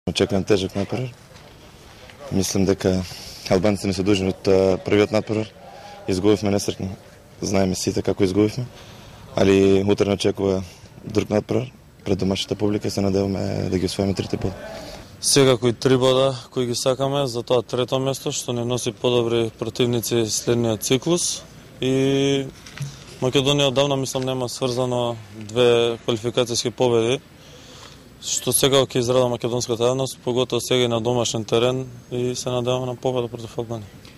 Очекувам тежок натпревар. Мислам дека албанците не се должни од првиот натпревар. Изгубивме несреќно. Знаеме сите како изгубивме, али утре очекува друг натпревар пред домашната публика и се надеваме да ги освоиме 3 бода. Секако и 3 бода кои ги сакаме за тоа трето место што не носи подобри противници следниот циклус и Македонија одавна мислам нема сврзано 2 квалификацијски победи, што сега ќе израда македонската јавност, поготово сега и на домашен терен и се надеваме на победа против Албанија.